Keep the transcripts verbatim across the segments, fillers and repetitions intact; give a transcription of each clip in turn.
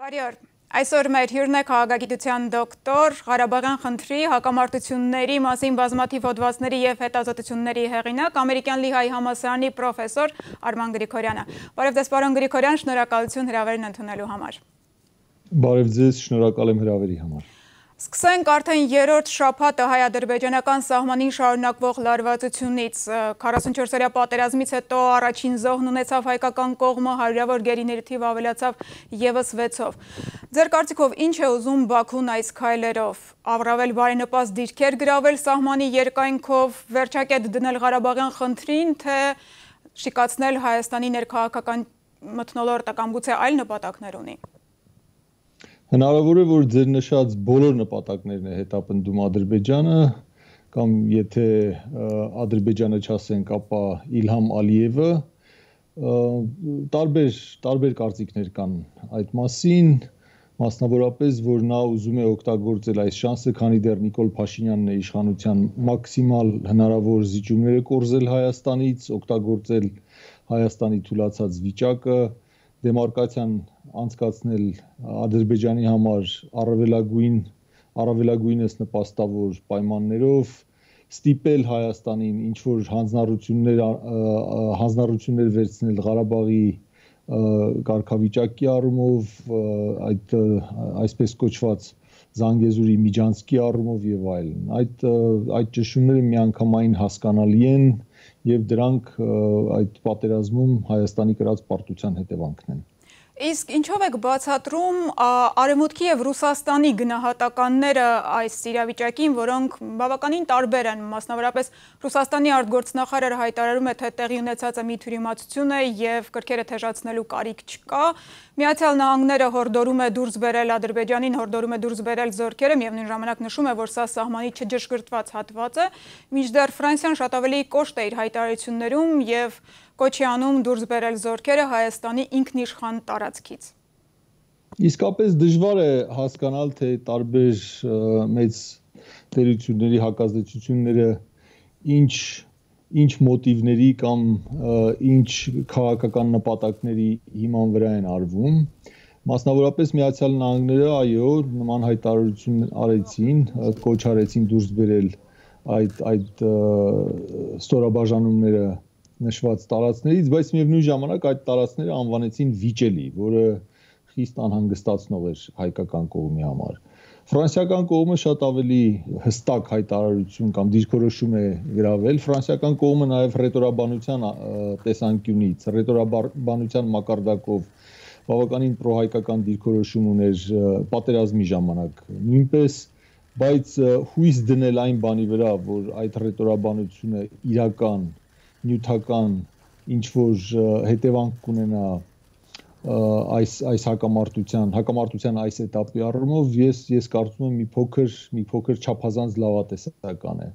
Բարի օր։ Այսօր մեր հյուրն է քաղաքագիտության դոկտոր, Ղարաբաղյան խնդրի, հակամարտությունների մասին բազմաթիվ հոդվածների և հետազոտությունների հեղինակ, ամերիկյան Լիհայի համալսարանի պրոֆեսոր Արման Գրիգորյանը։ Բարև ձեզ, պարոն Գրիգորյան, շնորհակալություն հրավերն ընդունելու համար։ Բարև ձեզ, շնորհակալ եմ հրավերի համար։ Սկսենք արդեն երրորդ շաբաթը հայ-ադրբեջանական սահմանին շարունակվող լարվածությունից։ քառասունչորսօրյա պատերազմից հետո առաջին զոհն ունեցավ հայկական կողմը, հարյուրավոր գերիների թիվը ավելացավ ևս վեցով։ Ձեր կարծիքով ինչ է ուզում Բաքուն այս քայլերով։ Առավել բարենպաստ դիրքեր գրավել սահմանի երկայնքով, վերջակետ դնել Ղարաբաղյան խնդրին, թե շիկացնել Հայաստանի ներքաղաքական մթնոլորտը կամ գուցե այլ նպատակներ ունի։ Հնարավոր է, որ ձեր նշած բոլոր նպատակներն է հետապնդում Ադրբեջանը, կամ եթե Ադրբեջանը չասենք, ապա Իլհամ Ալիևը, տարբեր, տարբեր կարծիքներ կան այդ մասին, մասնավորապես, որ նա ուզում է օգտագործել այս շանսը, քանի դեռ Նիկոլ Փաշինյանն է իշխանության մաքսիմալ հնարավոր զիջումները կորզել Հայաստանից, օգտագործել Հայաստանի թուլացած վիճակը, դեմարկացիան անցկացնել Ադրբեջանի համար առավելագույն, առավելագույնս նպաստավոր պայմաններով, ստիպել Հայաստանին ինչ-որ հանձնառություններ, հանձնառություններ վերցնել Ղարաբաղի կարգավիճակի առումով, այդ այսպես կոչված Զանգեզուրի միջանցքի առումով եւ այլն։ Այդ այդ ճշումները միանգամայն հասկանալի են եւ դրանք այդ պատերազմում Հայաստանի կրած պարտության հետևանքն են։ Իսկ ինչով եք բացատրում Արևմուտքի եւ Ռուսաստանի գնահատականները այս իրավիճակին, որոնք բավականին տարբեր են, մասնավորապես Ռուսաստանի արտգործնախարարը հայտարարում է, թե տեղի ունեցածը մի թյուրիմացություն է եւ կրքերը թեժացնելու կարիք չկա։ Միացյալ Նահանգները հորդորում է դուրս բերել Ադրբեջանին, հորդորում է դուրս բերել զորքերը, միևնույն ժամանակ նշում է, որ սա սահմանի չջշկրտված հատված է, մինչդեռ Ֆրանսիան շատ ավելի կոշտ է իր հայտարարություններում եւ կոչի անում դուրս բերել զորքերը Հայաստանի ինքնիշխան տարածքից։ Իսկապես դժվար է հասկանալ, թե տարբեր մեծ տերությունների հակազդեցությունները ինչ ինչ մոտիվների կամ ինչ քաղաքական նպատակների հիման վրա են արվում։ Մասնավորապես Միացյալ Նահանգները, այո, նման հայտարարություն արեցին, կոչ արեցին դուրս բերել այդ այդ ստորաբաժանումները նշված տարածքներից, բայց միևնույն ժամանակ այդ տարածքները անվանեցին վիճելի, որը խիստ անհանգստացնող էր հայկական կողմի համար։ Ֆրանսիական կողմը շատ ավելի հստակ հայտարարություն կամ դիրքորոշում է գրավել, ֆրանսիական կողմը նաև ռետորաբանության տեսանկյունից, ռետորաբանության մակարդակով բավականին պրոհայկական դիրքորոշում ուներ պատերազմի ժամանակ նույնպես, բայց հույս դնել այն բանի վրա, որ այդ ռետորաբանությունը իրական նյութական ինչ-որ հետևանք կունենա այս այս հակամարտության, հակամարտության այս этаպի առումով, ես ես կարծում եմ մի փոքր մի փոքր չափազանց լավատեսական է։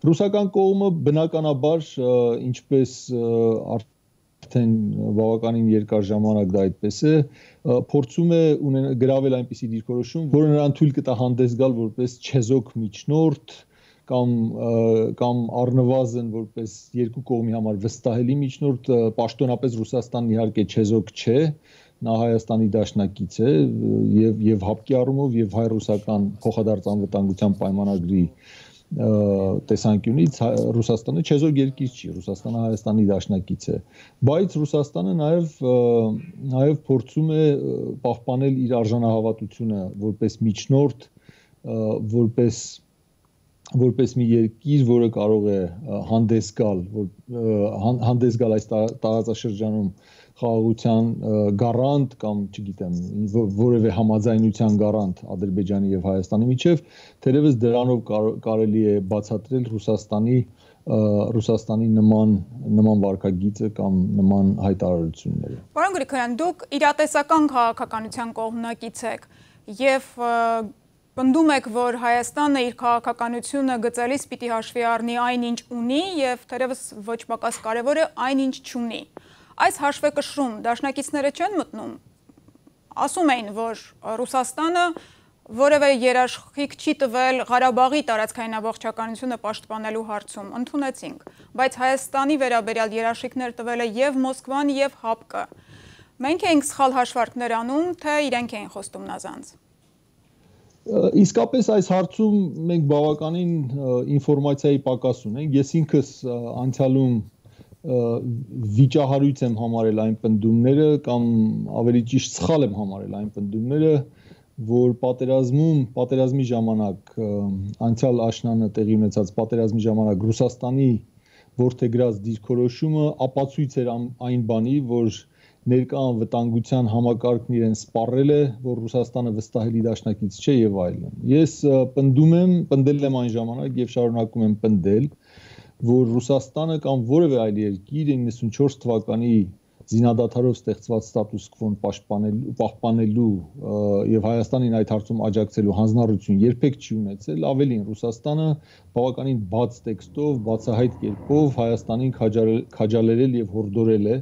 Ռուսական կողմը բնականաբար, ինչպես արդեն բավականին երկար ժամանակ դա այդպես է, փորձում է գրավել այնպիսի դիրքորոշում, որը նրան թույլ կտա հանդես գալ որպես չեզոք միջնորդ կամ կամ առնվազն որպես երկու կողմի համար վստահելի միջնորդ, պաշտոնապես Ռուսաստանն իհարկե չեզոք չէ, նա Հայաստանի դաշնակից է եւ եւ հապկի առումով եւ հայ-ռուսական փոխադարձ անվտանգության պայմանագրի տեսանկյունից Ռուսաստանը չեզոք երկիր չի, Ռուսաստանը Հայաստանի դաշնակից է, բայց Ռուսաստանը նաեւ նաեւ փորձում է պահպանել իր արժանահավատությունը որպես միջնորդ, որպես որպես մի երկիր, որը կարող է հանդես գալ, հանդես գալ այս տարածաշրջանում խաղաղության գարանտ կամ, չգիտեմ, որևէ համաձայնության գարանտ Ադրբեջանի եւ Հայաստանի միջև, թերևս դրանով կարելի է բացատրել Ռուսաստանի Ռուսաստանի նման նման վարքագիծը կամ նման հայտարարությունները։ Պարոն Գրիգորյան, դուք իրատեսական քաղաքականության կողմնակից եք եւ պնդում եք, որ Հայաստանը իր քաղաքականությունը գծելիս պիտի հաշվի առնի այն, ինչ ունի եւ թերևս ոչ պակաս կարեւոր է այն, ինչ չունի։ Այս հաշվեկշռում դաշնակիցները չեն մտնում։ Ասում էին, որ Ռուսաստանը որևէ երաշխիք չի տվել Ղարաբաղի տարածքային ամբողջականությունը պաշտպանելու հարցում, ընդունեցինք, բայց Հայաստանի վերաբերյալ երաշխիքներ տվել է եւ Մոսկվան եւ ՀԱՊԿ-ը։ Մենք ենք սխալ հաշվարկներ անում, թե իրենք էին խոստում նազանց։ Իսկապես այս հարցում մենք բավականին ինֆորմացիայի պակաս ունենք։ Ես ինքս անցյալում վիճահարույց եմ համարել այն պնդումները կամ ավելի ճիշտ սխալ եմ համարել այն պնդումները, որ պատերազմում, պատերազմի ժամանակ անցյալ աշնանը տեղի ունեցած պատերազմի ժամանակ Ռուսաստանի որդեգրած դիրքորոշումը ապացույց էր այն բանի, որ ներկա անվտանգության համակարգն իրեն սպառել է, որ Ռուսաստանը վստահելի դաշնակից չէ եւ այլն։ Ես պնդում եմ, պնդել եմ այն ժամանակ եւ շարունակում եմ պնդել, որ Ռուսաստանը կամ որևէ այլ երկիր իննսունչորս թվականի զինադադարով ստեղծված ստատուս քվոն պաշտպանելու, պահպանելու եւ Հայաստանին այդ հարցում աջակցելու հանձնառություն երբեք չի ունեցել, ավելին Ռուսաստանը բավականին բաց տեքստով, բացահայտ կերպով Հայաստանին քաջալերել եւ հորդորել է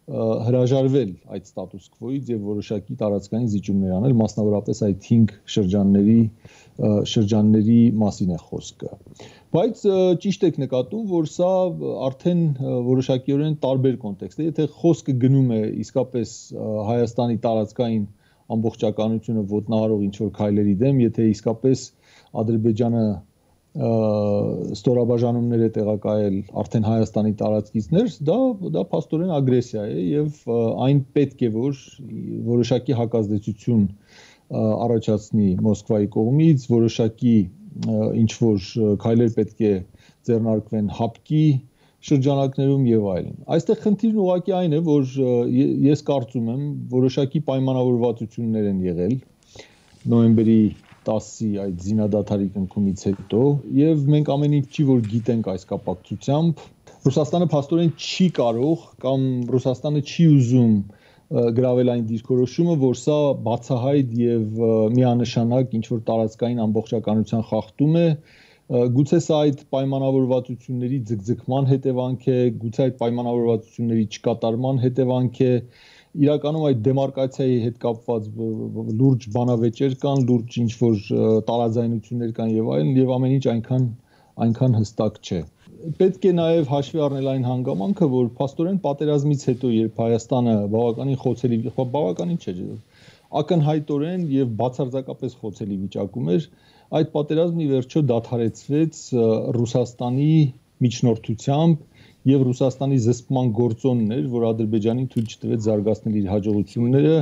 հրաժարվել այդ ստատուս քվոից եւ որոշակի տարածքային զիջումներ անել, մասնավորապես այդ հինգ շրջանների շրջանների մասին է խոսքը։ Բայց ճիշտ եք նկատում, որ սա արդեն որոշակիորեն տարբեր կոնտեքստ է, եթե խոսքը գնում է իսկապես Հայաստանի տարածքային ամբողջականությունը ոտնահարող ինչ-որ քայլերի դեմ, եթե իսկապես Ադրբեջանը ստորաբաժանումներ է տեղակայել արդեն Հայաստանի տարածքից ներս, դա դա փաստորեն ագրեսիա է եւ այն պետք է որ որոշակի հակազդեցություն առաջացնի Մոսկվայի կողմից, որոշակի ինչ որ քայլեր պետք է ձեռնարկվեն հապկի շրջանակներում եւ այլն։ Այստեղ խնդիրն ուղղակի այն է, որ ես կարծում եմ որոշակի պայմանավորվածություններ են եղել նոյեմբերի տասի այդ զինադադարի կնքումից հետո եւ մենք ամեն ինչ չի որ գիտենք այս կապակցությամբ Ռուսաստանը փաստորեն չի կարող կամ Ռուսաստանը չի ուզում գրավել այն դիրքորոշումը, որ սա բացահայտ եւ միանշանակ ինչ որ տարածքային ամբողջականության խախտում է, գուցե սա այդ պայմանավորվածությունների ձգձգման հետևանք է, գուցե այդ պայմանավորվածությունների չկատարման հետևանք է, իրականում այդ դեմարկացիայի հետ կապված լուրջ բանավեճեր կան, լուրջ ինչ որ տարաձայնություններ կան եւ այլն, եւ ամեն ինչ այնքան այնքան հստակ չէ։ Պետք է նաև հաշվի առնել այն հանգամանքը, որ փաստորեն պատերազմից հետո, երբ Հայաստանը բավականին խոցելի, բավականին չէ, ակնհայտորեն եւ բացարձակապես խոցելի վիճակում էր, այդ պատերազմը ի վերջո դադարեցվեց Ռուսաստանի միջնորդությամբ եւ Ռուսաստանի զսպման գործոնն էր, որ Ադրբեջանին թույլ չտվեց զարգացնել իր հաջողությունները,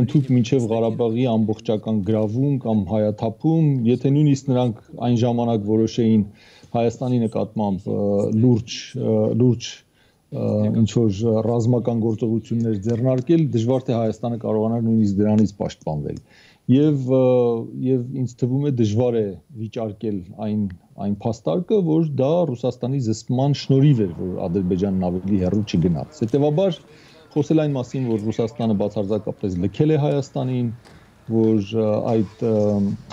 ընդհանուր մինչեւ Ղարաբաղի ամբողջական գրավում կամ հայաթափում, եթե նույնիսկ նրանք այն ժամանակ որոշեին Հայաստանի նկատմամբ լուրջ լուրջ ինչ որ ռազմական գործողություններ ձեռնարկել, դժվար թե Հայաստանը կարողանար նույնիսկ դրանից պաշտպանվել։ Եվ եւ ինձ թվում է դժվար է վիճարկել այն այն փաստարկը, որ դա Ռուսաստանի զսպման շնորհիվ էր, որ Ադրբեջանն ավելի հեռու չգնաց։ Հետևաբար խոսել այն մասին, որ Ռուսաստանը բացարձակապես լքել է Հայաստանին, որ այդ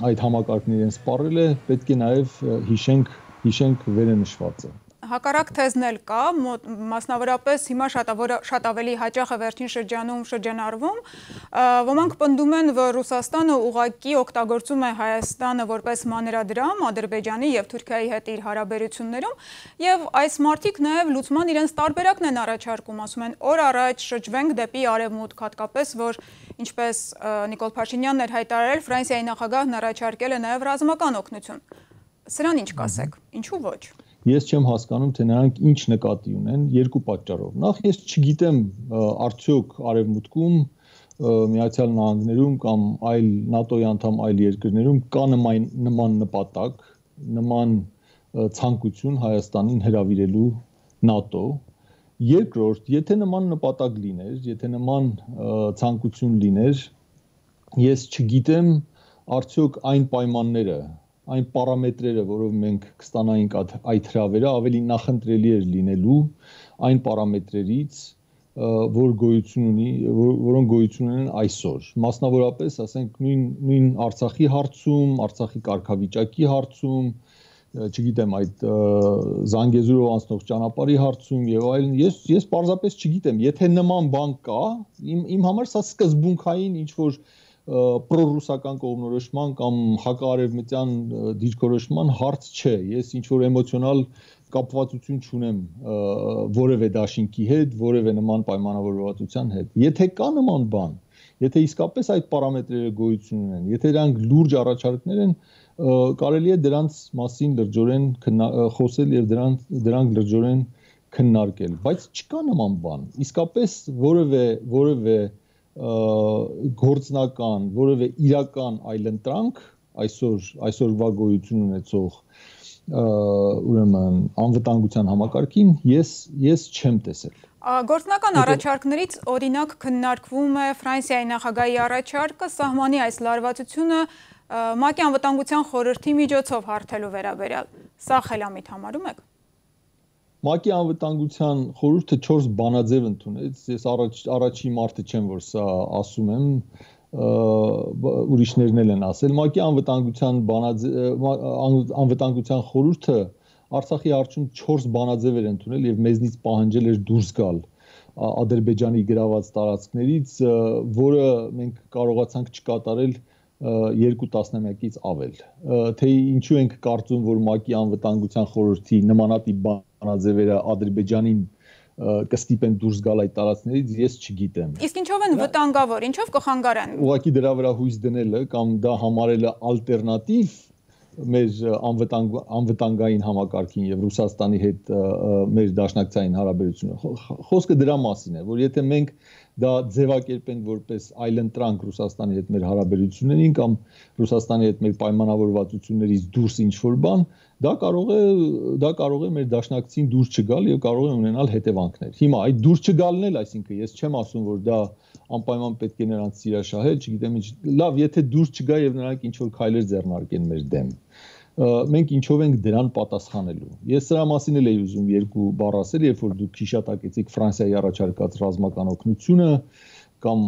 այդ համակարգն իրեն սպառել է, պետք է նաև հիշենք հիշենք վերը նշվածը։ Հակառակ թեզն էլ կա, մասնավորապես հիմա շատ ավելի հաճախ է վերջին շրջանում շրջանառվում, ոմանք պնդում են, որ Ռուսաստանը ուղղակի օգտագործում է Հայաստանը որպես մանրադրամ Ադրբեջանի եւ Թուրքիայի հետ իր հարաբերություններում, եւ այս մարդիկ նաեւ լուծման իրենց տարբերակն են առաջարկում, ասում են, օր առաջ շրջվենք դեպի արևմուտք, հատկապես որ ինչպես Նիկոլ Փաշինյանն էր հայտարարել, Ֆրանսիայի նախագահն առաջարկել է նաեւ ռազմական օգնություն։ Սրան ինչ կասեք, ինչու ոչ։ Ես չեմ հասկանում, թե նրանք ինչ նկատի ունեն երկու պատճառով։ Նախ ես չգիտեմ արդյոք արևմուտքում, Միացյալ Նահանգներում կամ այլ ՆԱՏՕ-ի անդամ այլ երկրներում կա նման նման նպատակ, նման ցանկություն Հայաստանին հրավիրելու ՆԱՏՕ։ Երկրորդ, եթե նման նպատակ լիներ, եթե նման ցանկություն լիներ, ես չգիտեմ արդյոք այն պայմանները այն պարամետրերը, որով մենք կստանայինք այդ հրավերը, ավելի նախընտրելի էր լինելու այն պարամետրերից, որ գոյություն ունի, որոնք գոյություն ունեն այսօր։ Մասնավորապես, ասենք, նույն նույն Արցախի հարցում, Արցախի կարգավիճակի հարցում, չգիտեմ, այդ Զանգեզուրով անցնող ճանապարհի հարցում եւ այլն, ես ես պարզապես չգիտեմ, եթե նման բան կա, իմ իմ համար սա սկզբունքային ինչ որ պրոռուսական կողմնորոշման կամ հակաարևմտյան դիրքորոշման հարց չէ։ Ես ինչ որ էմոցիոնալ կապվածություն չունեմ որևէ դաշինքի հետ, որևէ նման պայմանավորվածության հետ։ Եթե կա նման բան, եթե իսկապես այդ պարամետրերը գոյություն ունեն, եթե դրանք լուրջ առաջարկներ են, կարելի է դրանց մասին լրջորեն խոսել եւ դրանք դրանք լրջորեն քննարկել, բայց չկա նման բան։ Իսկապես որևէ որևէ գործնական, որևէ իրական այլընտրանք այսօր այսօրվա գոյություն ունեցող ուրեմն անվտանգության համակարգին ես ես չեմ տեսել։ Գործնական առաջարկներից օրինակ քննարկվում է Ֆրանսիայի նախագահի առաջարկը սահմանի այս լարվածությունը ՄԱԿ-ի անվտանգության խորհրդի միջոցով հարթելու վերաբերյալ։ Սա խելամիտ համարում եք։ ՄԱԿ-ի անվտանգության խորհուրդը չորս բանաձև ընդունեց, ես առաջ առաջի մարդը չեմ, որ սա ասում եմ, ուրիշներն էլ են ասել։ ՄԱԿ-ի անվտանգության անվտանգության խորհուրդը Արցախի հարցում չորս բանաձև էր ընդունել եւ մեզնից պահանջել էր դուրս գալ Ադրբեջանի գրաված տարածքներից, որը մենք կարողացանք չկատարել երկու տասնամյակից ավել։ Թե ինչու ենք կարծում, որ ՄԱԿ-ի անվտանգության խորհրդի նմանատիպ բանաձևերը Ադրբեջանին կստիպեն դուրս գալ այդ տարածքներից, ես չգիտեմ։ Իսկ ինչով են վտանգավոր, ինչով կխանգարեն։ Ուղղակի դրա վրա հույս դնելը կամ դա համարելը ալտերնատիվ մեր անվտանգ անվտանգային համակարգին եւ Ռուսաստանի հետ մեր դաշնակցային հարաբերությունը։ Խոսքը դրա մասին է, որ եթե մենք դա ձևակերպենք որպես այլընտրանք Ռուսաստանի հետ մեր հարաբերություններին կամ Ռուսաստանի հետ մեր պայմանավորվածություններից դուրս ինչ-որ բան, դա կարող է դա կարող է մեր դաշնակցին դուրս չգալ եւ կարող է ունենալ հետևանքներ։ Հիմա այդ դուրս չգալն էլ, այսինքն ես չեմ ասում, որ դա անպայման պետք է նրանց սիրաշահել, չգիտեմ ինչ, լավ, եթե դուրս չգա եւ նրանք ինչ-որ քայլեր ձեռնարկեն մեր դեմ, մենք ինչով ենք դրան պատասխանելու։ Ես սրա մասին էլ էի ուզում երկու բառ ասել, երբ որ դուք հիշատակեցիք Ֆրանսիայի առաջարկած ռազմական օգնությունը կամ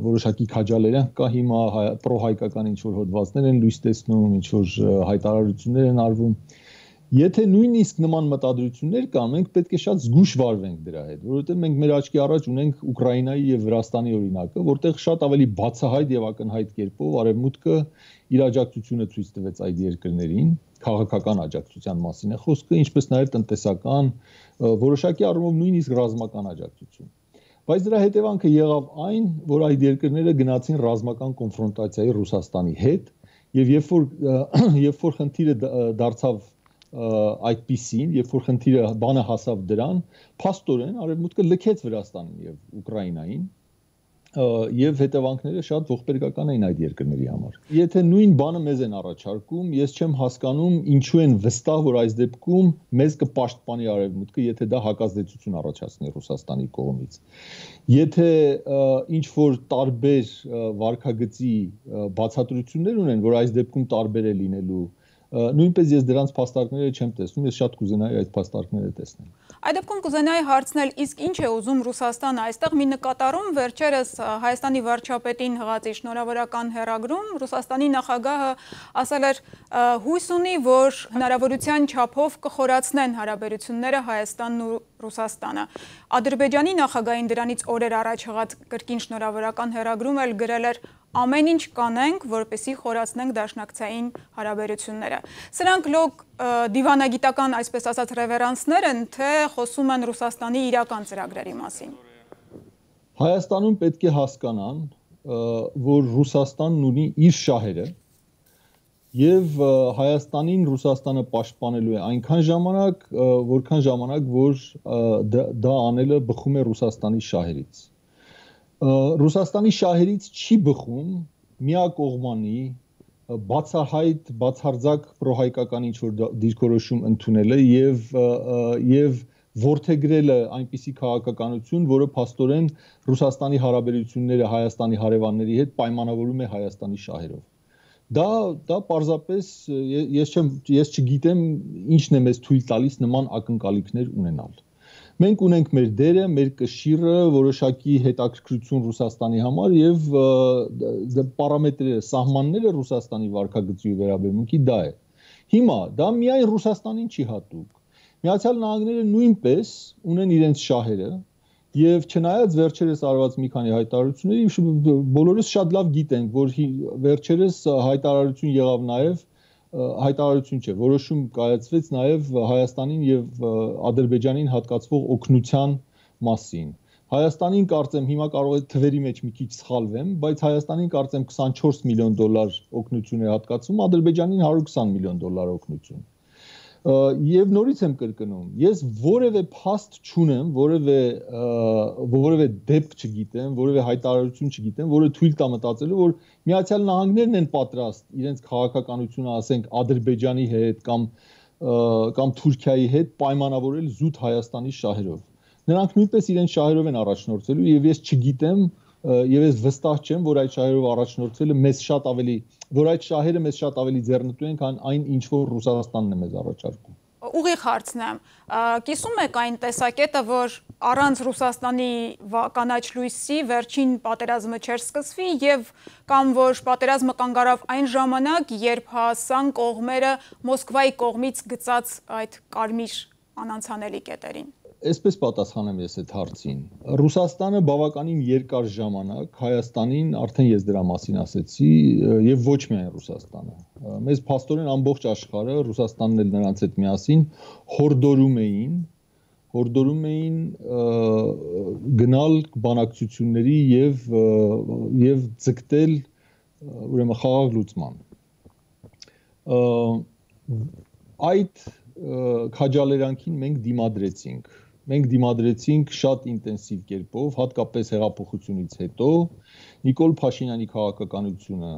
որոշակի քաջալերանք կա հիմա պրոհայկական ինչ-որ հոդվածներ են լույս տեսնում, ինչ-որ հայտարարություններ են արվում։ Եթե նույնիսկ նման մտադրություններ կան, մենք պետք է շատ զգուշ վարվենք դրա հետ, որովհետև մենք մեր աչքի առաջ ունենք Ուկրաինայի եւ Վրաստանի օրինակը, որտեղ շատ ավելի բացահայտ եւ ակնհայտ կերպով Արևմուտքը իր աջակցությունը ցույց տվեց այդ երկրներին, քաղաքական աջակցության մասին է խոսքը, ինչպես նաեւ տնտեսական, որոշակի առումով նույնիսկ ռազմական աջակցություն։ Բայց դրա հետևանքը եղավ այն, որ այդ երկրները գնացին ռազմական կոնֆրոնտացիայի Ռուսաստանի հետ, եւ երբ որ երբ որ խնդիրը դարձավ այդպիսին, երբ որ խնդիրը բանը հասավ դրան, փաստորեն Արևմուտքը լքեց Վրաստանին եւ Ուկրաինային, եւ հետևանքները շատ ողբերգական էին այդ երկրների համար։ Եթե նույն բանը մեզ են առաջարկում, ես չեմ հասկանում ինչու են վստահ, որ այս դեպքում մեզ կպաշտպանի Արևմուտքը, եթե դա հակազդեցություն առաջացնի Ռուսաստանի կողմից։ Եթե ինչ որ տարբեր վարքագծի բացատրություններ ունեն, որ այս դեպքում տարբեր է լինելու, նույնպես ես դրանց փաստարկները չեմ տեսնում, ես շատ կուզենայի այդ փաստարկները տեսնել։ Այդ դեպքում կուզենայի հարցնել, իսկ ինչ է ուզում Ռուսաստանը, այստեղ մի նկատառում վերջերս Հայաստանի վարչապետին հղացի շնորհավորական հեռագրում, Ռուսաստանի նախագահը ասել էր հույս ունի, որ հնարավորության չափով կխորացնեն հարաբերությունները Հայաստանն ու Ռուսաստանը։ Ադրբեջանի նախագահին դրանից օրեր առաջ հղած կրկին շնորհավորական հեռագրում էլ գրել էր ամեն ինչ կանենք, որպեսզի խորացնենք դաշնակցային հարաբերությունները։ Սրանք լոկ դիվանագիտական, այսպես ասած, ռևերանսներ են, թե խոսում են Ռուսաստանի իրական ծրագրերի մասին։ Հայաստանում պետք է հասկանան, որ Ռուսաստանն ունի իր շահերը եւ Հայաստանին Ռուսաստանը պաշտպանելու է այնքան ժամանակ, որքան ժամանակ, որ դա անելը բխում է Ռուսաստանի շահերից։ Ռուսաստանի շահերից չի բխում միակողմանի բացահայտ, բացարձակ պրոհայկական ինչ-որ դիրքորոշում ընդունելը եւ եւ որդեգրելը այնպիսի քաղաքականություն, որը փաստորեն Ռուսաստանի հարաբերությունները Հայաստանի հարևանների հետ պայմանավորում է Հայաստանի շահերով։ Դա դա պարզապես ես չեմ ես չգիտեմ ինչն է մեզ թույլ տալիս նման ակնկալիքներ ունենալ։ Մենք ունենք մեր դերը, մեր կշիռը, որոշակի հետաքրքրություն Ռուսաստանի համար եւ պարամետրերը, սահմանները Ռուսաստանի վարքագծի ու վերաբերմունքի դա է։ Հիմա դա միայն Ռուսաստանին չի հատուկ։ Միացյալ Նահանգները նույնպես ունեն իրենց շահերը եւ չնայած վերջերս արված մի քանի հայտարարությունների, բոլորս շատ լավ գիտենք, որ վերջերս հայտարարություն եղավ նաեւ հայտարարություն չէ, որոշում կայացվեց նաև Հայաստանին եւ Ադրբեջանին հատկացվող օգնության մասին։ Հայաստանին կարծեմ հիմա կարող է թվերի մեջ մի քիչ սխալվեմ, բայց Հայաստանին կարծեմ քսանչորս միլիոն դոլար օգնություն է հատկացվում, Ադրբեջանին հարյուր քսան միլիոն դոլար օգնություն։ Եվ նորից եմ կրկնում, ես որևէ փաստ չունեմ, որևէ որևէ դեպք չգիտեմ, որևէ հայտարարություն չգիտեմ, որը թույլ տա մտածելու, որ Միացյալ Նահանգներն են պատրաստ իրենց քաղաքականությունը, ասենք, Ադրբեջանի հետ կամ կամ Թուրքիայի հետ պայմանավորել զուտ Հայաստանի շահերով։ Նրանք նույնպես իրենց շահերով են առաջնորդվելու եւ ես չգիտեմ եւ ես վստահ չեմ, որ այդ շահերով առաջնորդվելը մեզ շատ ավելի, որ այդ շահերը մեզ շատ ավելի ձեռնտու են, քան այն ինչ որ Ռուսաստանն է մեզ առաջարկում։ Ուղիղ հարցնեմ, կիսում եք այն տեսակետը, որ առանց Ռուսաստանի կանաչ լույսի վերջին պատերազմը չէր սկսվի եւ կամ որ պատերազմը կանգ առավ այն ժամանակ, երբ հասան կողմերը Մոսկվայի կողմից գծած այդ կարմիր անանցանելի կետերին։ Այսպես պատասխանեմ ես այդ հարցին։ Ռուսաստանը բավականին երկար ժամանակ Հայաստանին, արդեն ես դրա մասին ասեցի, եւ ոչ միայն Ռուսաստանը։ Մեզ փաստորեն ամբողջ աշխարհը, Ռուսաստանն էլ նրանց հետ միասին հորդորում էին, հորդորում էին գնալ բանակցությունների եւ եւ ձգտել ուրեմն խաղաղ լուծման։ Այդ քաջալերանքին մենք դիմադրեցինք։ Մենք դիմադրեցինք շատ ինտենսիվ կերպով, հատկապես հեղափոխությունից հետո Նիկոլ Փաշինյանի քաղաքականությունը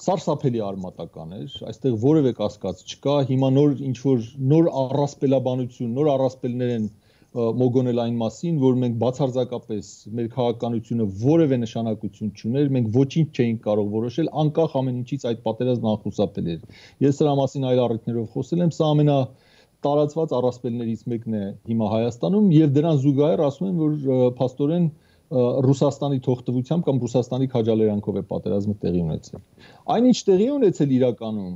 սարսափելի արմատական էր, այստեղ որևէ կասկած չկա, հիմա նոր ինչ որ նոր առասպելաբանություն, նոր առասպելներ են մոգոնել այն մասին, որ մենք բացարձակապես մեր քաղաքականությունը որևէ նշանակություն չուներ, մենք ոչինչ չէինք կարող որոշել, անկախ ամեն ինչից այդ պատերազմն անխուսափելի էր։ Ես դրա մասին այլ առիթներով խոսել եմ, սա ամենա տարածված առասպելներից մեկն է հիմա Հայաստանում եւ դրան զուգահեռ ասում են, որ փաստորեն Ռուսաստանի թողտվությամբ կամ Ռուսաստանի քաջալերանքով է պատերազմը տեղի ունեցել։ Այնինչ տեղի ունեցել իրականում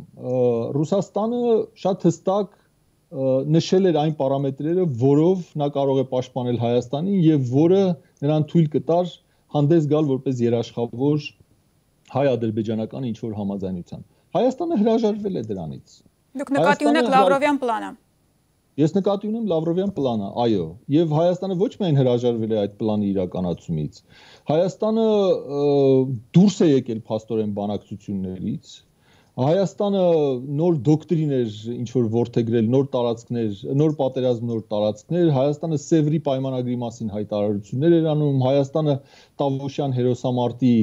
Ռուսաստանը շատ հստակ նշել էր այն պարամետրերը, որով նա կարող է պաշտպանել Հայաստանին եւ որը նրան թույլ կտար հանդես գալ որպես երաշխավոր հայ-ադրբեջանական ինչ-որ համաձայնության։ Հայաստանը հրաժարվել է դրանից։ Դուք նկատի ունեք Լավրովյան պլանը։ Ես նկատի ունեմ Լավրովյան պլանը, այո, եւ Հայաստանը ոչ միայն հրաժարվել է այդ պլանի իրականացումից։ Հայաստանը դուրս է եկել փաստորեն բանակցություններից։ Հայաստանը նոր դոկտրիներ ինչ որ ворթեգրել, նոր տարածքներ, նոր պատերազմ, նոր տարածքներ, Հայաստանը Սևրի պայմանագրի մասին հայտարարություններ էր անում, Հայաստանը Տավուշյան հերոսամարտի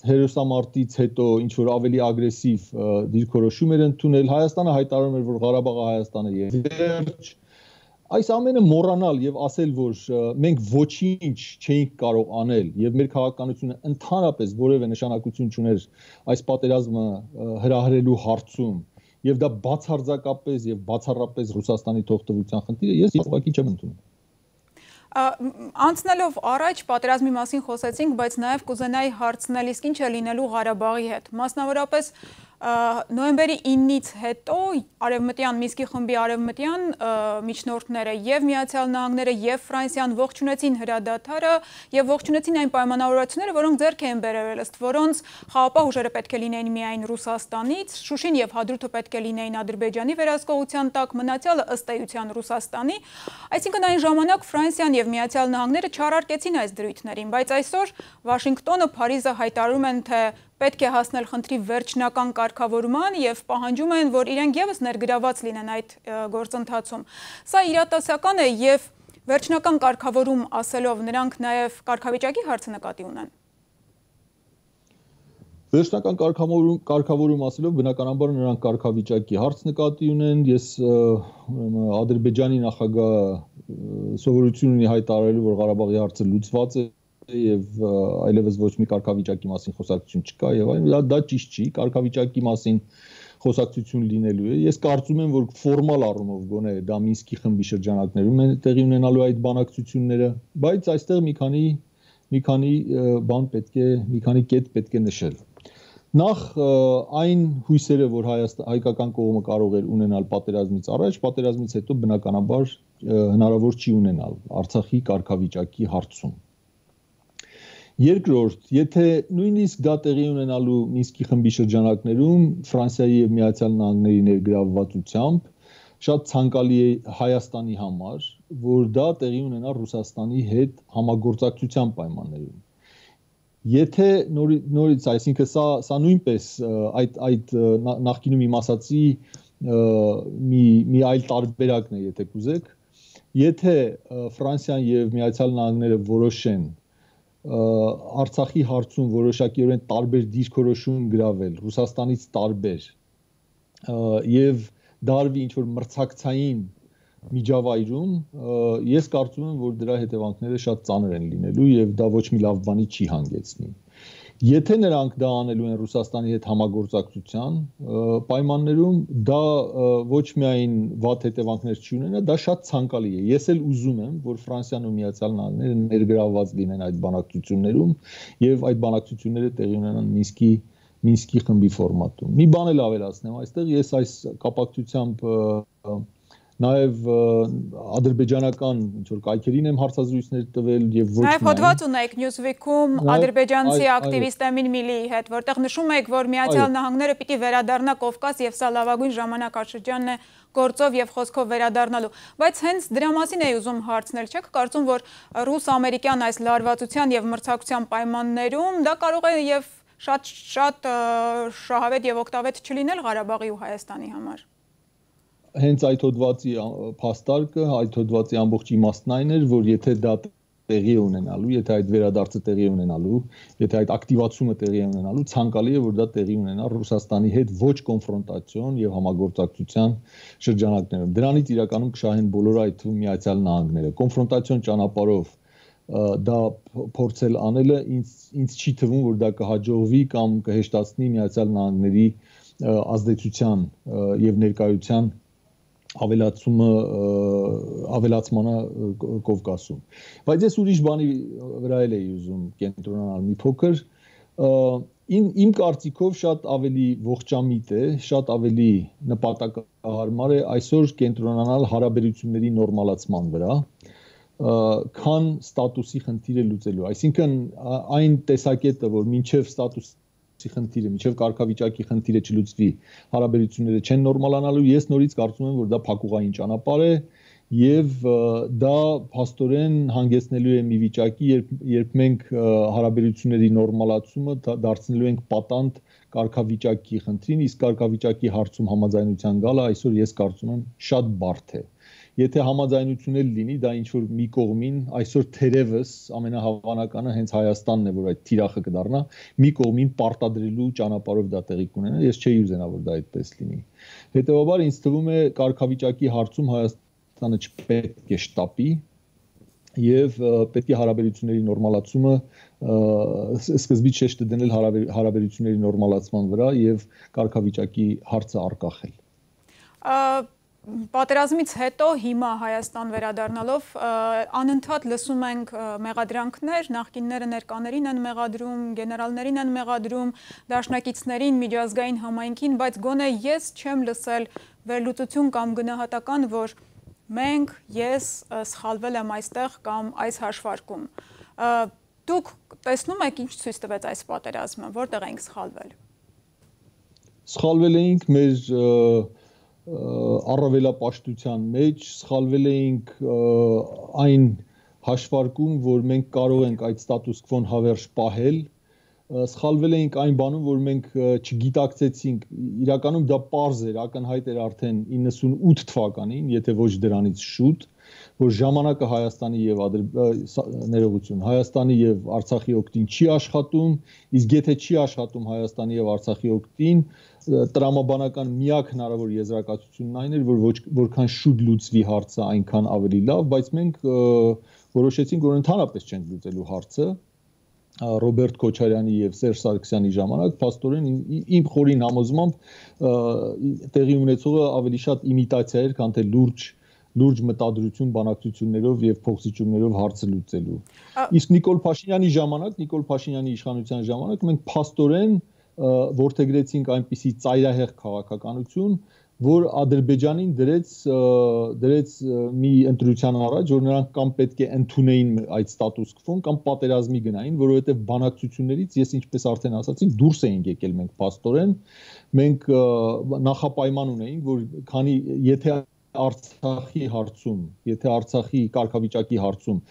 հերոսամարտից հետո ինչ որ ավելի ագրեսիվ դիրքորոշում էր ընդունել, Հայաստանը հայտարարում էր, որ Ղարաբաղը Հայաստանը է վերջ։ Այս ամենը մոռանալ եւ ասել, որ մենք ոչինչ չէինք կարող անել եւ մեր քաղաքականությունը ընդհանրապես որևէ նշանակություն չուներ այս պատերազմը հրահրելու հարցում եւ դա բացարձակապես եւ բացառապես Ռուսաստանի թողտվության խնդիրը, ես ուղղակի չեմ ընդունում։ Անցնելով առաջ պատերազմի մասին խոսեցինք, բայց նաև կուզենայի հարցնել, իսկ ինչ է լինելու Ղարաբաղի հետ։ Մասնավորապես նոյեմբերի ինից հետո Արևմտյան Մինսկի խմբի արևմտյան միջնորդները եւ Միացյալ Նահանգները եւ Ֆրանսիան ողջունեցին հրադադարը եւ ողջունեցին այն պայմանավորվածությունները, որոնք ձեռք էին բերել, ըստ որոնց խաղապահ ուժերը պետք է լինեին միայն Ռուսաստանից, Շուշին եւ Հադրութը պետք է լինեին Ադրբեջանի վերահսկողության տակ, մնացյալը ըստ էության Ռուսաստանի։ Այսինքն այն ժամանակ Ֆրանսիան եւ Միացյալ Նահանգները չարարկեցին այս դրույթներին, բայց այսօր Վաշինգտոնը, Փարիզը հայտարարում են, թե պետք է հասնել խնդրի վերջնական կարգավորման եւ պահանջում են, որ իրենք եւս ներգրաված լինեն այդ գործընթացում։ Սա իրատեսական է եւ վերջնական կարգավորում ասելով նրանք նաեւ կարգավիճակի հարցը նկատի ունեն։ Վերջնական կարգավորում կարգավորում ասելով բնականաբար նրանք կարգավիճակի հարց նկատի ունեն։ Ես Ադրբեջանի նախագահ սովորություն ունի հայտարարելու, որ Ղարաբաղի հարցը լուծված է եւ այլևս ոչ մի կարգավիճակի մասին խոսակցություն չկա եւ այլն, դա ճիշտ չի, կարգավիճակի մասին խոսակցություն լինելու է։ Ես կարծում եմ, որ ֆորմալ առումով գոնե դա Մինսկի խմբի շրջանակներում են տեղի ունենալու այդ բանակցությունները, բայց այստեղ մի քանի մի քանի բան պետք է, մի քանի կետ պետք է նշել։ Նախ այն հույսերը, որ հայկական կողմը կարող էր ունենալ պատերազմից առաջ, պատերազմից հետո բնականաբար հնարավոր չի ունենալ Արցախի կարգավիճակի հարցում։ Երկրորդ, եթե նույնիսկ դա տեղի ունենալու Մինսկի խմբի շրջանակներում Ֆրանսիայի եւ Միացյալ Նահանգների ներգրավվածությամբ շատ ցանկալի է Հայաստանի համար, որ դա տեղի ունենա Ռուսաստանի հետ համագործակցության պայմաններում։ Եթե նորից, այսինքն սա սա նույնպես այդ այդ նախկինում իմ ասացի մի մի այլ տարբերակն է, եթե կուզեք, եթե Ֆրանսիան եւ Միացյալ Նահանգները որոշեն Արցախի հարցում որոշակիորեն տարբեր դիրքորոշում գրավել Ռուսաստանից տարբեր եւ դարվի ինչ որ մրցակցային միջավայրում, ես կարծում եմ, որ դրա հետևանքները շատ ծանր են լինելու եւ դա ոչ մի լավ բանի չի հանգեցնի։ Եթե նրանք դա անելու են Ռուսաստանի հետ համագործակցության պայմաններում, դա ոչ միայն վատ հետևանքներ չի ունենա, դա շատ ցանկալի է։ Ես էլ ուզում եմ, որ Ֆրանսիան ու Միացյալ Նահանգները ներգրավված լինեն այդ բանակցություններում եւ այդ բանակցությունները տեղի ունենան Մինսկի Մինսկի խմբի ֆորմատում։ Մի բան էլ ավելացնեմ այստեղ, ես այս կապակցությամբ Նաև ադրբեջանական ինչ-որ կայքերին եմ հարցազրույցներ տվել եւ ոչ միայն։ Նաև հոդված ունեք Newsweek-ում ադրբեջանցի ակտիվիստ Էմին Միլիի հետ, որտեղ նշում եք, որ Միացյալ Նահանգները պիտի վերադառնա Կովկաս եւ սա լավագույն ժամանակաշրջանն է գործով եւ խոսքով վերադառնալու։ Բայց հենց դրա մասին էի ուզում հարցնել, չեք կարծում, որ ռուս-ամերիկյան այս լարվածության եւ մրցակցության պայմաններում դա կարող է եւ շատ շատ շահավետ եւ օգտավետ չլինել Ղարաբաղի ու Հայաստանի համար։ Հենց այդ հոդվածի փաստարկը, այդ հոդվածի ամբողջ իմաստն այն էր, որ եթե դա տեղի է ունենալու, եթե այդ վերադարձը տեղի է ունենալու, եթե այդ ակտիվացումը տեղի է ունենալու, ցանկալի է, որ դա տեղի ունենա Ռուսաստանի հետ ոչ կոնֆրոնտացիոն եւ համագործակցության շրջանակներում։ Դրանից իրականում կշահեն բոլորը, այդ թվում Միացյալ Նահանգները։ Կոնֆրոնտացիոն ճանապարհով դա փորձել անելը ինձ ինձ չի թվում, որ դա կհաջողվի կամ կհեշտացնի Միացյալ Նահանգների ազդեցության եւ ներկայության ավելացումը ավելացմանը Կովկասում։ Բայց ես ուրիշ բանի վրա էլ էի ուզում կենտրոնանալ մի փոքր։ Իմ իմ կարծիքով շատ ավելի ողջամիտ է, շատ ավելի նպատակահարմար է այսօր կենտրոնանալ հարաբերությունների նորմալացման վրա, քան ստատուսի խնդիրը լուծելու։ Այսինքն այն տեսակետը, որ մինչև ստատուս խնդիրը, միջև կարգավիճակի խնդիրը չլուծվի, հարաբերությունները չեն նորմալանալու, ես նորից կարծում եմ, որ դա փակուղային ճանապարհ է եւ դա փաստորեն հանգեցնելու է մի վիճակի, երբ երբ մենք հարաբերությունների նորմալացումը դարձնելու ենք պատանդ կարգավիճակի խնդրին, իսկ կարգավիճակի հարցում համաձայնության գալը այսօր ես կարծում եմ շատ բարդ է։ Եթե համաձայնություն էլ լինի, դա ինչ որ մի կողմին այսօր թերևս ամենահավանականը հենց Հայաստանն է, որ այդ թիրախը կդառնա, մի կողմին պարտադրելու ճանապարհով դա տեղի կունենա, ես չէի ուզենա, որ դա այդպես լինի։ Հետևաբար ինձ թվում է կարգավիճակի հարցում Հայաստանը չպետք է շտապի եւ պետք է հարաբերությունների նորմալացումը սկզբից շեշտը դնել հարաբերությունների նորմալացման վրա եւ կարգավիճակի հարցը առկախել։ Պատերազմից հետո հիմա Հայաստան վերադառնալով անընդհատ լսում ենք մեղադրանքներ, նախկինները ներկաներին են մեղադրում, գեներալներին են մեղադրում, դաշնակիցներին, միջազգային համայնքին, բայց գոնե ես չեմ լսել վերլուծություն կամ գնահատական, որ մենք, ես սխալվել եմ այստեղ կամ այս հաշվարկում։ Դուք տեսնում եք ինչ ցույց տվեց այս պատերազմը, որտեղ ենք սխալվել։ Սխալվել էինք մեր առավելապաշտության մեջ, սխալվել էինք այն հաշվարկում, որ մենք կարող ենք այդ ստատուս քվոն հավերժ պահել, սխալվել էինք այն բանում, որ մենք չգիտակցեցինք, իրականում դա պարզ էր, ակնհայտ էր արդեն իննսունութ թվականին, եթե ոչ դրանից շուտ, որ ժամանակը Հայաստանի եւ ներողություն, Հայաստանի եւ Արցախի օգտին չի աշխատում, իսկ եթե չի աշխատում Հայաստանի եւ Արցախի օգտին, տրամաբանական միակ հնարավոր եզրակացությունն այն էր, որ որքան շուտ լուծվի հարցը, այնքան ավելի լավ, բայց մենք որոշեցինք, որ ընդհանրապես չենք լուծելու հարցը, Ռոբերտ Քոչարյանի եւ Սերժ Սարգսյանի ժամանակ, փաստորեն իմ խորին համոզմամբ տեղի ունեցողը ավելի շատ իմիտացիա էր, քան թե լուրջ լուրջ մտադրություն բանակցություններով եւ փոխզիջումներով հարցը լուծելու։ Իսկ Նիկոլ Փաշինյանի ժամանակ, Նիկոլ Փաշինյանի իշխանության ժամանակ մենք փաստորեն որդեգրեցինք այնպիսի ծայրահեղ քաղաքականություն, որ Ադրբեջանին դրեց դրեց մի ընտրության առաջ, որ նրանք կամ պետք է ընդունեին այդ ստատուս քվոն, կամ պատերազմի գնային, որովհետև բանակցություններից ես ինչպես արդեն ասացի, դուրս էինք եկել մենք փաստորեն, մենք նախապայման ունեինք, որ քանի եթե Արցախի հարցում, եթե Արցախի կարգավիճակի հարցում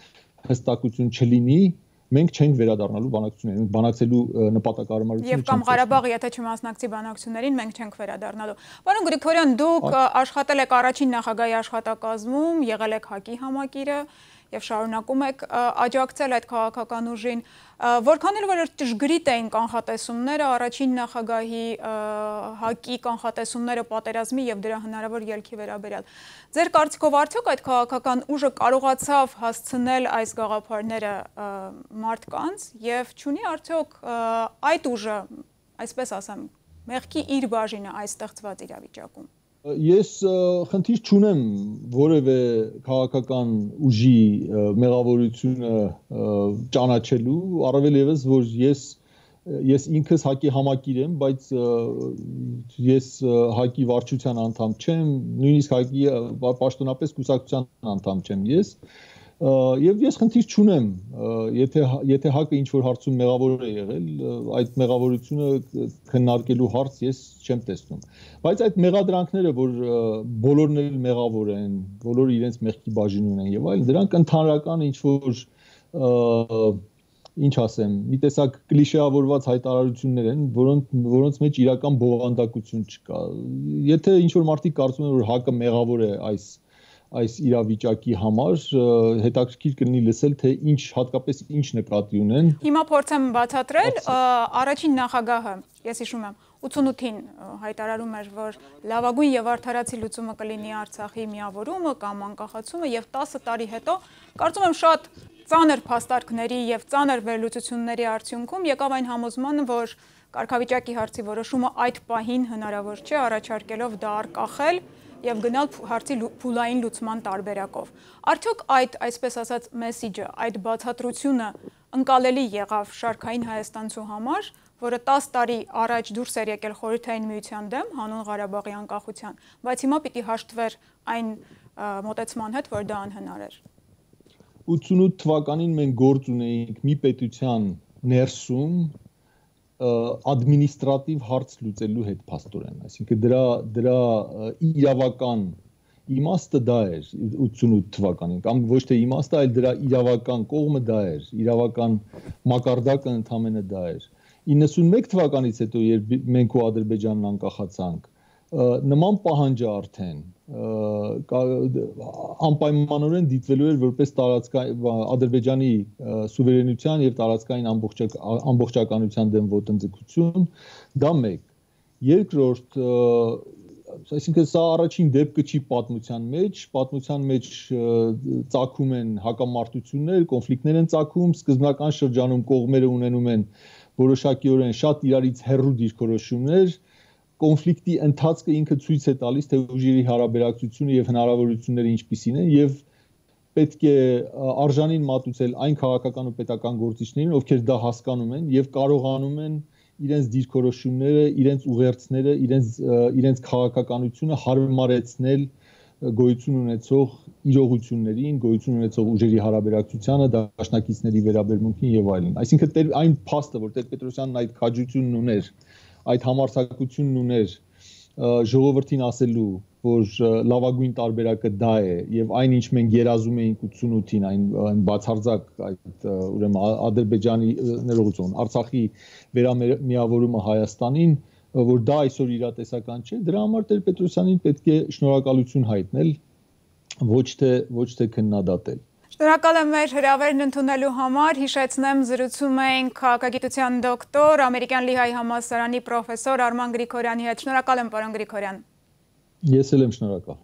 հստակություն չլինի, մենք չենք վերադառնալու բանակցություններին, բանակցելու նպատակարարությունը Եվ կամ Ղարաբաղը, եթե չմասնակցի բանակցություններին, մենք չենք վերադառնալու։ Պարոն Գրիգորյան, դուք աշխատել եք առաջին նախագահի աշխատակազմում, եղել եք ՀԱԿ-ի համակիրը եւ շարունակում եք աջակցել այդ քաղաքական ուժին, որքան էլ որ ճշգրիտ էին կանխատեսումները, առաջին նախագահի ՀԱԿ-ի կանխատեսումները պատերազմի եւ դրա հնարավոր ելքի վերաբերյալ։ Ձեր կարծիքով արդյոք այդ քաղաքական ուժը կարողացավ հասցնել այս գաղափարները մարդկանց եւ չունի արդյոք այդ ուժը, այսպես ասեմ, մեղքի իր բաժինը այս ստեղծված իրավիճակում։ Ես խնդիր չունեմ որևէ քաղաքական ուժի մեղավորությունը ճանաչելու, առավել ևս որ ես ես ինքս ՀԱԿ-ի համակիր եմ, բայց ես ՀԱԿ-ի վարչության անդամ չեմ, նույնիսկ ՀԱԿ-ի պաշտոնապես կուսակցության անդամ չեմ ես, եւ ես խնդիր չունեմ, եթե եթե ՀԱԿ-ը ինչ որ հարցում մեղավոր է եղել, այդ մեղավորությունը քննարկելու հարց ես չեմ տեսնում, բայց այդ մեղադրանքները, որ բոլորն էլ մեղավոր են, բոլորը իրենց մեղքի բաժին ունեն եւ այլն, դրանք ընդհանրական ինչ որ ինչ ասեմ, մի տեսակ կլիշեավորված հայտարարություններ են, որոնց որոնց մեջ իրական բովանդակություն չկա։ Եթե ինչ որ մարդիկ կարծում են, որ ՀԱԿ-ը մեղավոր է այս այս իրավիճակի համար, հետաքրքիր կլինի լսել, թե ինչ հատկապես ինչ նկատի ունեն։ Հիմա փորձեմ բացատրել, առաջին նախագահը, ես հիշում եմ, ութանութին հայտարարում էր, որ լավագույն եւ արդարացի լուծումը կլինի Արցախի միավորումը կամ անկախացումը եւ տասը տարի հետո, կարծում եմ շատ ծանր փաստարկների եւ ծանր վերլուծությունների արդյունքում եկավ այն համոզմանը, որ կարգավիճակի հարցի որոշումը այդ պահին հնարավոր չէ, առաջարկելով դա արկախել եւ գնալ հարցի փուլային լուծման տարբերակով։ Արդյոք այդ, այսպես ասած, մեսիջը, այդ բացատրությունը ընկալելի եղավ շարքային հայաստանցու համար, որը տասը տարի առաջ դուրս էր եկել Խորհրդային Միության դեմ հանուն Ղարաբաղի անկախության, բայց հիմա պիտի հաշտվեր այն մոտեցման հետ, որ դա անհնար էր։ ութանութ թվականին մենք գործ ունեինք մի պետության ներսում ադմինիստրատիվ հարց լուծելու հետ փաստորեն, այսինքն դրա դրա իրավական իմաստը դա էր ութանութ թվականին, կամ ոչ թե իմաստը, այլ դրա իրավական կողմը դա էր, իրավական մակարդակը ընդհանրապես դա էր։ իննսունմեկ թվականից հետո, երբ մենք ու Ադրբեջանն անկախացանք, նման պահանջը արդեն անպայմանորեն դիտվելու էր որպես տարածքային Ադրբեջանի սուվերենության եւ տարածքային ամբողջականության դեմ ոտնձգություն, դա մեկ։ Երկրորդ, այսինքն սա առաջին դեպքը չի պատմության մեջ, պատմության մեջ ծագում են հակամարտություններ, կոնֆլիկտներ են ծագում, սկզբնական շրջանում կողմերը ունենում են որոշակիորեն շատ իրարից հեռու դիրքորոշումներ, կոնֆլիկտի ընթացքը ինքը ցույց է տալիս, թե ուժերի հարաբերակցությունը եւ հնարավորությունները ինչպիսին են եւ պետք է արժանին մատուցել այն քաղաքական ու պետական գործիչներին, ովքեր դա հասկանում են եւ կարողանում են իրենց դիրքորոշումները, իրենց ուղերձները, իրենց իրենց քաղաքականությունը հարմարեցնել գոյություն ունեցող իրողություններին, գոյություն ունեցող ուժերի հարաբերակցությանը, դաշնակիցների վերաբերմունքին եւ այլն։ Այսինքն այն փաստը, որ Տեր-Պետրոսյանն այդ քաջությունն ուներ, այդ համարձակությունն ուներ ժողովրդին ասելու, որ լավագույն տարբերակը դա է եւ այնինչ մենք երազում էինք ութանութին, այն բացարձակ այդ ուրեմն Ադրբեջանի ներողություն, Արցախի վերամիավորումը Հայաստանին, որ դա այսօր իրատեսական չէ, դրա համար Տեր-Պետրոսյանին պետք է շնորհակալություն հայտնել, ոչ թե ոչ թե քննադատել։ Շնորհակալ եմ մեր հրավերն ընդունելու համար, հիշեցնեմ զրուցում էինք քաղաքագիտության դոկտոր, ամերիկյան Լիհայի համալսարանի պրոֆեսոր Արման Գրիգորյանի հետ։ Շնորհակալ եմ, պարոն Գրիգորյան։ Ես էլ եմ շնորհակալ։